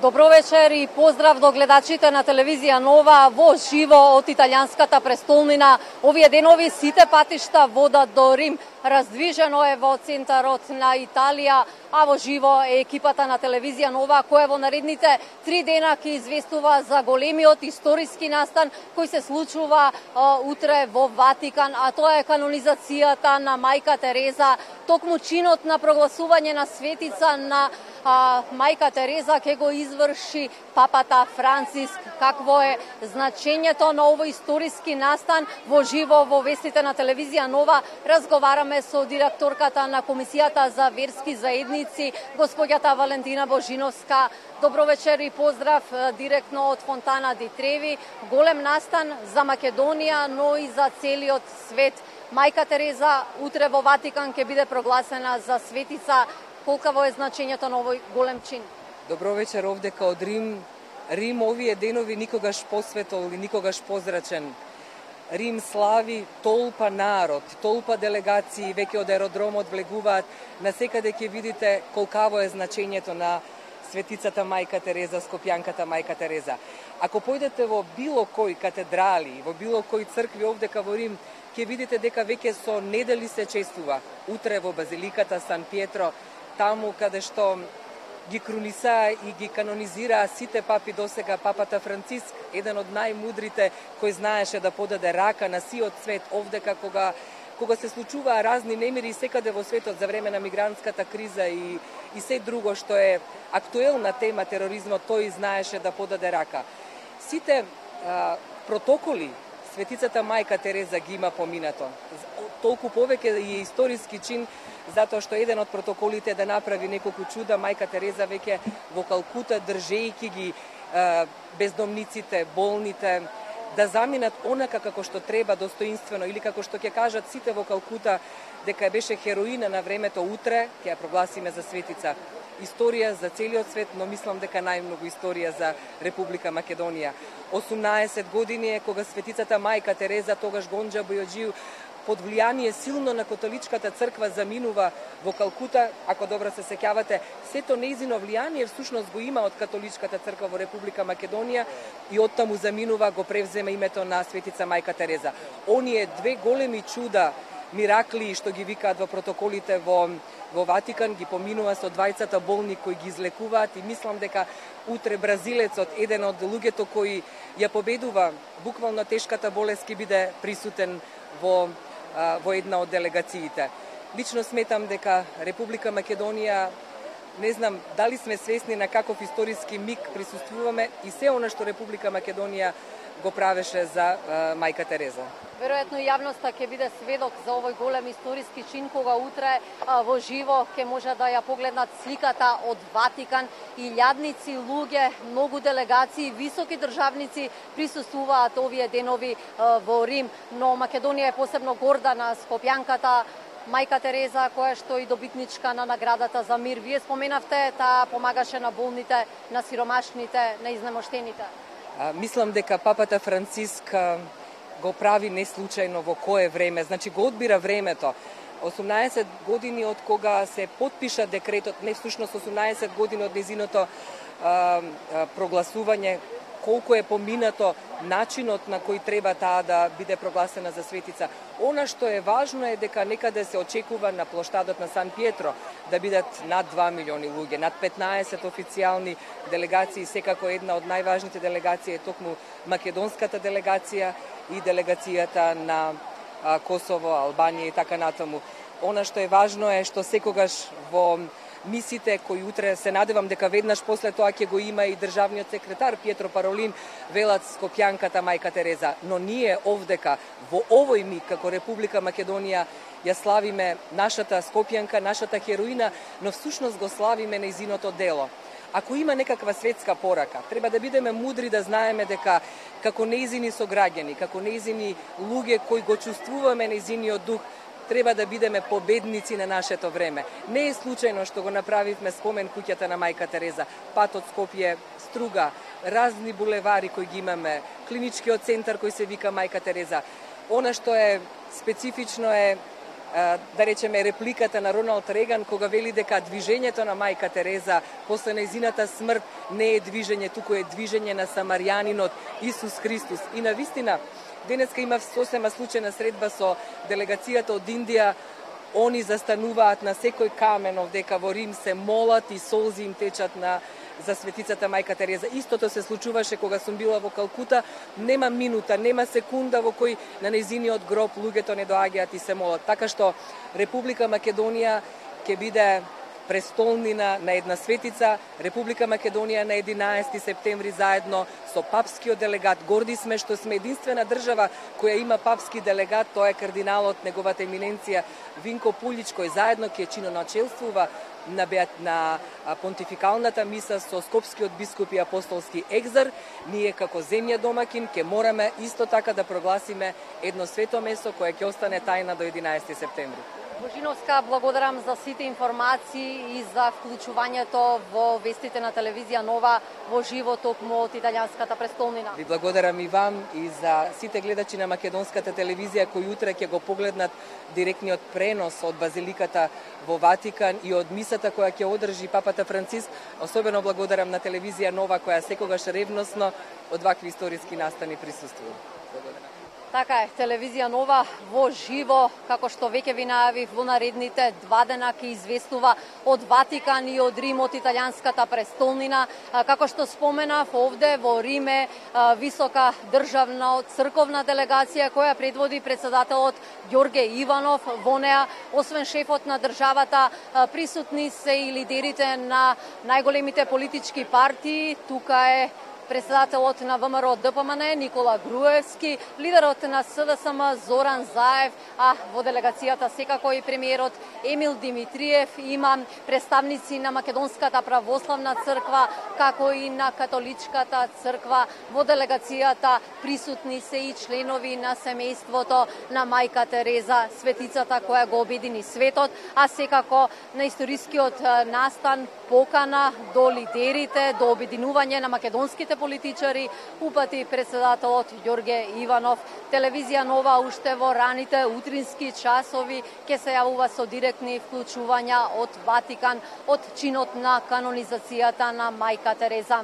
Добро вечер и поздрав до гледачите на телевизија Нова во живо од италијанската престолнина. Овие денови сите патишта водат до Рим. Раздвижено е во центарот на Италија, а во живо е екипата на телевизија Нова, која во наредните 3 дена ќе известува за големиот историски настан кој се случува утре во Ватикан, а тоа е канонизацијата на мајка Тереза. Токму чинот на прогласување на светица на мајка Тереза ќе го изврши папата Франциск. Какво е значењето на овој историски настан? Во живо во вестите на телевизија Нова разговараме со директорката на Комисијата за верски заедници, господјата Валентина Божиновска. Добро вечер и поздрав директно од Фонтана ди Треви. Голем настан за Македонија, но и за целиот свет. Мајка Тереза утре во Ватикан ќе биде прогласена за светица. Колкаво е значењето на овој голем чин? Добро вечер овдека од Рим. Рим овие денови никогаш посветол и никогаш позрачен. Рим слави толпа народ, толпа делегации, веќе од аеродромот влегуваат. Насекаде ќе видите колкаво е значењето на светицата мајка Тереза, скопјанката мајка Тереза. Ако појдете во било кој катедрали, во било кој цркви овдека во Рим, ќе видите дека веќе со недели се чествува. Утре во базиликата Сан Пиетро, таму каде што ги крунисаа и ги канонизираа сите папи досега, папата Франциск, еден од најмудрите кој знаеше да подаде рака на сиот свет овдека кога се случуваа разни немири секаде во светот за време на мигрантската криза и се друго што е актуелна тема тероризмот, тој знаеше да подаде рака. Сите протоколи светицата мајка Тереза ги има поминато. Толку повеќе е историски чин, затоа што еден од протоколите е да направи неколку чуда. Мајка Тереза веќе во Калкута, држејќи ги бездомниците, болните, да заминат онака како што треба, достоинствено, или како што ќе кажат сите во Калкута, дека беше хероина на времето, утре ќе ја прогласиме за светица. Историја за целиот свет, но мислам дека најмногу историја за Република Македонија. 18 години е кога светицата мајка Тереза, тогаш Гонџа Бојоџију, под влијание силно на католичката црква заминува во Калкута. Ако добро се сеќавате, сето нејзино влијание всушност го има од католичката црква во Република Македонија и оттаму заминува, го превзема името на светица мајка Тереза. Оние две големи чуда, миракли што ги викаат во протоколите во Ватикан, ги поминува со двајцата болни кои ги излекуваат и мислам дека утре бразилецот, еден од луѓето кои ја победува буквално тешката болест, ќе биде присутен во една од делегациите. Лично сметам дека Република Македонија, не знам дали сме свесни на каков историски миг присуствуваме и се она што Република Македонија го правеше за мајка Тереза. Веројатно јавноста ќе биде сведок за овој голем историски чин кога утре во живо ќе може да ја погледнат сликата од Ватикан. Илјадници луѓе, многу делегации, високи државници присуствуваат овие денови во Рим, но Македонија е посебно горда на скопјанката мајка Тереза, која што и добитничка на наградата за мир. Вие споменавте, таа помагаше на болните, на сиромашните, на изнемоштените. Мислам дека папата Франциск го прави неслучајно во кое време, значи го одбира времето. 18 години од кога се потпиша декретот, не всушност 18 години од незиното прогласување, колку е поминато начинот на кој треба таа да биде прогласена за светица. Она што е важно е дека некаде се очекува на плоштадот на Сан Пиетро да бидат над 2 милиони луѓе, над 15 официјални делегации, секако една од најважните делегации е токму македонската делегација и делегацијата на Косово, Албанија и така натаму. Она што е важно е што секогаш во мисите кои утре се надевам дека веднаш после тоа ќе го има и државниот секретар Пиетро Паролин, велат скопјанката мајка Тереза. Но ние овдека во овој миг како Република Македонија ја славиме нашата скопјанка, нашата хероина, но всушност го славиме нејзиното дело. Ако има некаква светска порака, треба да бидеме мудри да знаеме дека како нејзини сограѓани, како нејзини луѓе кои го чувствуваме нејзиниот дух, треба да бидеме победници на нашето време. Не е случајно што го направивме спомен куќата на мајка Тереза, патот Скопје, Струга, разни булевари кои ги имаме, клиничкиот центар кој се вика мајка Тереза. Она што е специфично е да речеме репликата на Роналд Реган кога вели дека движењето на мајка Тереза после нејзината смрт не е движење, туку е движење на самарјанинот Исус Христос. И навистина денеска има сосема случајна средба со делегацијата од Индија. Они застануваат на секој камен овдека во Рим, се молат и солзи им течат за светицата мајка Тереза. Истото се случуваше кога сум била во Калкута. Нема минута, нема секунда во кој на нејзиниот гроб луѓето не доаѓаат и се молат. Така што Република Македонија ќе биде престолнина на една светица. Република Македонија на 11 септември заедно со папскиот делегат. Горди сме што сме единствена држава која има папски делегат, тоа е кардиналот, неговата еминенција Винко Пулич, кој заедно ќе чиноначелствува на понтификалната миса со скопскиот бископ и апостолски екзар. Ние како земја домакин ќе мораме исто така да прогласиме едно свето месо кое ќе остане тајна до 11 септември. Божиновска, благодарам за сите информации и за вклучувањето во вестите на телевизија Нова во живо токму од италијанската престолнина. Ви благодарам и вам и за сите гледачи на македонската телевизија кои утре ќе го погледнат директниот пренос од базиликата во Ватикан и од мисата која ќе одржи папата Франциск. Особено благодарам на телевизија Нова која секогаш ревносно од вакви историски настани присуствува. Благодарам. Така е, телевизија Нова во живо, како што веќе ви најавив, во наредните 2 дена ќе известува од Ватикан и од Рим, од италијанската престолнина. Како што споменав, овде во Риме висока државна црковна делегација која предводи председателот Ѓорге Иванов. Во неа, освен шефот на државата, присутни се и лидерите на најголемите политички партии. Тука е председателот на ВМРО ДПМН Никола Груевски, лидерот на СДСМ Зоран Заев, а во делегацијата секако и премиерот Емил Димитриев. Има представници на Македонската православна црква, како и на католичката црква. Во делегацијата присутни се и членови на семејството на мајка Тереза, светицата која го обедини светот, а секако на историскиот настан покана до лидерите, до обединување на македонските политичари, упати председателот Ѓорге Иванов. Телевизија Нова уште во раните утрински часови ќе се јавува со директни вклучувања од Ватикан, од чинот на канонизацијата на мајка Тереза.